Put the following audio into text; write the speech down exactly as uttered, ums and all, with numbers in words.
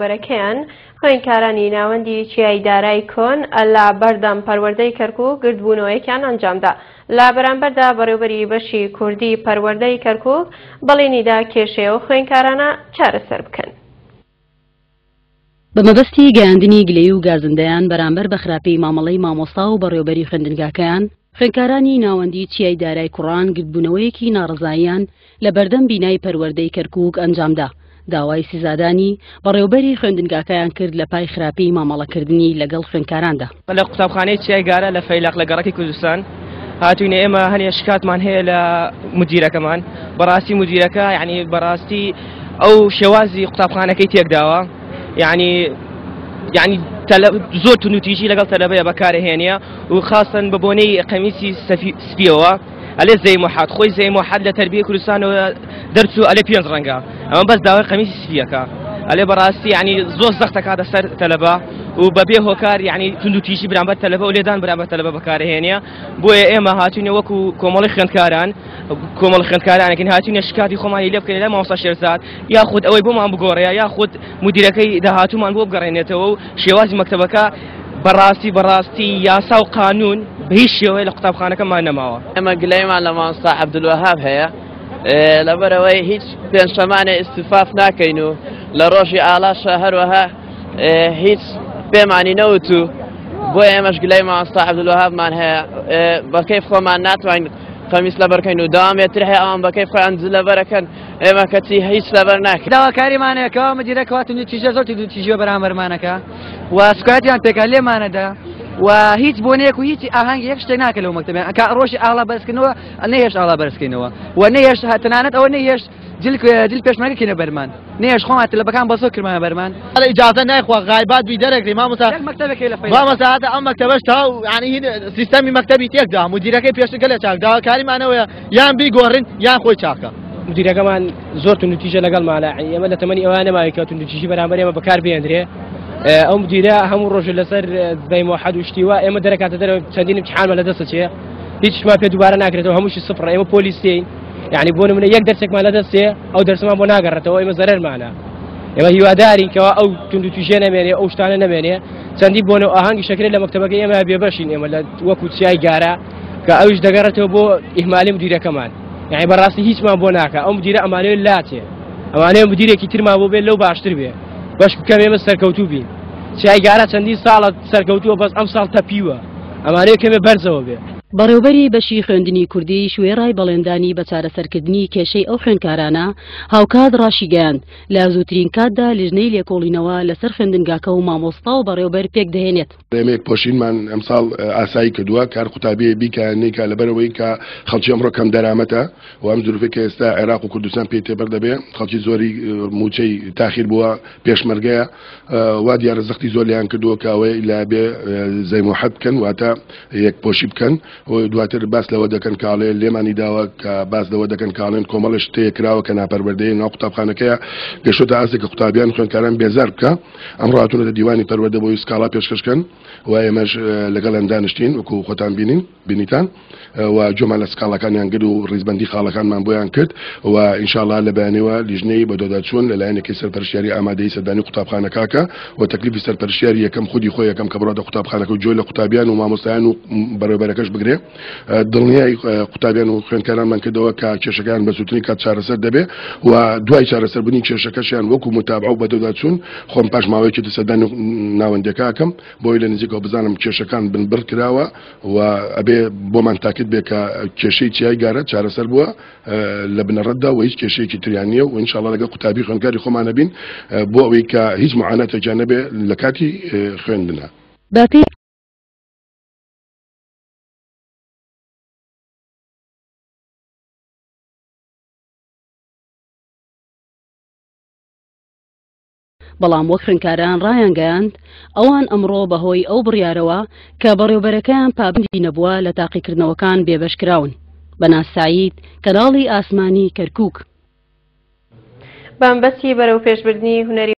بەرەکەیان خوێندکارانی ناوەندی چیای دارای کۆن لە بەردەم پەروەردەی کەرکوک گردبوونەوەیەکیان ئەنجامدا. لە بەرامبەردا بەڕێوبەری بەشی کوردی پەروەردەی کەرکوک بەڵێنیدا کێشەیە و خوێندکارانە چارەسەر بکەن. بە مەبەستی گەیاندنی گلەیی و گازندەیان بەرامبەر بە خراپی مامەڵەی مامۆستا و بەڕێوبەری خوێندنگاکەیان، خوێندکارانی ناوەندی چیای دارای کوڕان گردبوونەوەیەکی ناڕەزاییان لە بەردەم بینای پەروەردەی کەرکوک ئەنجامدا. داوای سزادانی بەڕێوبەری خوێندنگاکەیان کرد لە پای خراپی مامەڵەکردنی لەگەڵ خوێندکاراندا. لە قوتابخانەی چیای گارە لە فەیلەق لە گەڕەکی کوردستان هاتوینە ئێمە هەنێ شکاتمان هەیە لە مدیرەکەمان. بەڕاستی مدیرەکە یعنی بەڕاستی ئەو شێوازی قوتابخانەکەی تێکداوە، یعنی یعنی زۆر توندوتیژی لەگەڵ تەلەبەیە بەکارهێنیە و خاصەن بە بۆنەی قەمیسی سپیەوە. ئەلێ زەی موحەد خۆی زەی موحەد لە تەربیە کوردستانەوە دەرچوو ئەلێ پێنج ڕەنگە، ئەمە بەس داوای قەمیسی سپیەکە. ئەلێ بەڕاستی یعنی زۆر زەختەکاتە سەر تەلەبە و بەبێ هۆکار یعنی توندوتیژی بەرامبەر تەلەبە و لێدان بەرامبەر تەلەبە بەکارهێنیە. بۆیە ئێمە هاتوینە وەکو کۆمەڵی خوێندکاران کۆمەڵی خوێندکارانێکین هاتوینە شکاتی خۆمانی لێ بکەین لە مامۆستا شێرزاد، یاخود ئەوەی بۆمان بگۆڕێ یاخود مدیرەکەی داهاتوومان بۆ بگەڕێنێتەوە و شێوازی مەکتەبەکە بەڕاستی بەڕاستی یاسا و قانون بە هیچ شێوەیە لە قوتابخانەکەمان نەماوە. ئێمە گلەیمان لە مامۆستا عەبدولوەهاب هەیە، لەبەرەوەی هیچ پێنجشەمانێ ئیستیفاف ناکەین و لە ڕۆژی ئاڵاشە هەروەها هیچ پێمانی نەوت و بۆ ئێمەش گلەی مامۆستا عەبدولوەهابمان هەیە. بە کەیف خۆمان ناتوانین قەمیس لەبەرکەین و داوامێتر هەیە ئەوان بە کەیف خۆیان جل لەبەرەکەن، ئێمە کەچی هیچ لەبەر ناکەین. داواکاریمانەیەکەوە مدیرەکەوە توندوتیژە زۆر توندوتیژیوە بەرامبەرمانەکە و سکایەتیان پێکا لێمانەدا و هیچ بۆنەیەک و هیچ ئاهەنگی یەک شتێک ناکە لەو مەکتەبیان. کە ڕۆژی ئاڵا بەرزکردنەوە نەهێشت ئاڵا بەرزکەینەوە و نەهێشت تەنانەت ئەوە نەهێشت جل جل پێشمەرگە کەینە بەرمان، نەهێشت خۆمان تەلەبەکان بەزۆر کردمانە بەرمان. ئیجازە نایخوا غایبات بی دەرەکری مامۆستا. مامۆستا هاتە ئەم مەکتەبەش تا یعنی سیستەمی مەکتەبی تێکدا، مدیرەکەی پێشتر گەلێ چاک، داواکاریمانەوەیە یان بیگۆڕین یان خۆی چاکە. مدیرەکەمان زۆر توندوتیژە لەگەڵمانە، ئێمە لە تەمەنی ئەوە نەماوی کە توندوتیژی بەرامبەر ئێمە بەکار بێندرێ. ئەو مدیرە هەموو ڕۆژە لەسەر زەی موحەد و شتیوە ئێمە دەرەکاتە دەرەوە، چەندین امتحانمان لەدەستە چێ، هیچمان پێ دووبارە ناکرێتەوە، هەمووشی سفرە. ئێمە پۆلیسین، یعنی بۆ نمونە یەک دەرسێکمان لەدەستێ ئەو دەرسمان بۆ ناگەڕێتەوە، ئێمە زەرەرمانە. ئێمە هیوادارین کەوا ئەو توندوتیژیە نەمێنێ، ئەو شتانە نەمێنێ. چەندین بۆنە و ئاهەنگی شەکرێت لە مەکتەبەکەی ئێمە بێبەشین ئێمە لە وەکو چیای گارە کە ئەویش دەگەڕێتەوە بۆ ئیهمالی مدیرەکەمان. یعنی بەڕاستی هیچمان بۆ ناکە، ئەو مدیرە ئەمانەوێت لاچێ، ئەمانەیە مدیرێکی ترمان بۆ بێت لەو باشتر بێ، بەش بکەم ئێمە سەرکەوتوو بین. چیای گارە چەندین ساڵە سەرکەوتووە، بەس ئەم ساڵ تەپیوە، ئەمانەیە کەمێ بەرزەوە بێ. بەڕێوبەری بەشی خوێندنی کوردیش وێڕای بەڵێندانی بە چارەسەرکردنی کێشەی ئەو خوێندکارانە هاوکات ڕاشیگەیاند لە زووترین کاتدا لیژنەی لێکۆڵینەوە لەسەر خوێندنگاکە و مامۆستا و بەڕێوبەر پێک دەهێنێت. ئێمە یەکپۆشینمان ئەمساڵ ئاسایی کردووە، کار قوتابیە بیکە نیکە لەبەرەوەی کە خەڵکی ئەمڕۆ کەم دەرامەتە و ئەم زروفەی کە ئێستا عێراق و کوردستان پێی تێبەر دەبێ، خەڵکی زۆری موچەی تاخیر بووە، پێشمەرگەیە، وا دیارە زەختی زۆر لێیان کردووە کە ئەوەی لە بێ زەی موحەد بکەن، واتە یەکپۆشی بکەن. دواتر باس لەوە دەکەن کاڵێ لێمانی داوە کە باس لەوە دەکەن کاڵێن کۆمەڵێ شتەیە کراوە کە ناپەروەردەیە ناو قوتابخانەکەیە گەشتۆتە ئاستێک کە قوتابیان خوێندکاران بێزار بکە. ئەمڕۆ هاتوونەتە دیوانی پەروەردە بۆی سکاڵا پێشکەشکەن و ئێمەش لەگەڵیان دانیشتین وەکو خۆتان بینین بینیتان و جۆمان لە سکاڵاکانیان گرت و ڕیزبەندی خاڵەکانمان بۆیان کرد و ئینشاءڵڵا لە بەیانیوە لیژنەی بەدواداچوون لەلایەنێکی سەرپەرشتیاری ئامادەی سەردانی قوتابخانەکاکە و تەکلیفی سەرپەرشتیاری یەکەم خودی خۆی یەکەم کە بڕاتە قوتابخانەکە و جۆی لە قوتابیان و مامۆستایان و بەڕێوبەرەکەش بگرێ. دڵنیای قوتابیان و خوێندکارانمان کردەوە کە کێشەکان بە زووترین کات چارەسەر دەبێ و دوای چارەسەربوونی کێشەکەشیان وەکو متابعە و بەدواداچوون خۆم پاش ماوەیەکی تر سەردانی ناوەندەکەکەم بۆی لە نزیکەوە بزانم کێشەکان بنبڕ کراوە و ئەبێ بۆمان تاکت بێ کە کێشەی چیای گارە چارەسەر بووە لە بنەڕەتدا و هیچ کێشەیەکی تریان نییە و ئینشاءڵڵا لەگەڵ قوتابی خوێندکاری خۆمانە بین بۆ ئەوەی کە هیچ معاناتێکیان نەبێ لە کاتی خوێندنە. بەپێی بەڵام وەک خوێندکاران ڕایانگەیاند ئەوان ئەمڕۆ بەهۆی ئەو بڕیارەوە کە بەڕێوبەرەکەیان پابەندی نەبووە لە تاقیکردنەوەکان بێبەشکراون. بەناز سعید، کەناڵی ئاسمانی کەرکوک. بەمبەستی بەرەو پێشبردنی هونەری